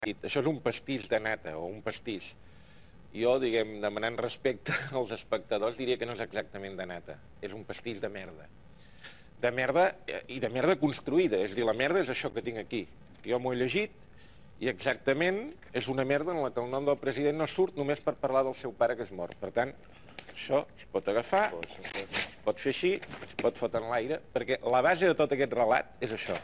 Això és un pastís de nata, o un pastís. Jo, diguem, demanant respecte als espectadors, diria que no és exactament de nata. És un pastís de merda. De merda, i de merda construïda. És a dir, la merda és això que tinc aquí. Jo m'ho he llegit, i exactament és una merda en la que el nom del president no surt només per parlar del seu pare que és mort. Per tant, això es pot agafar, es pot fer així, es pot fotre en l'aire, perquè la base de tot aquest relat és això.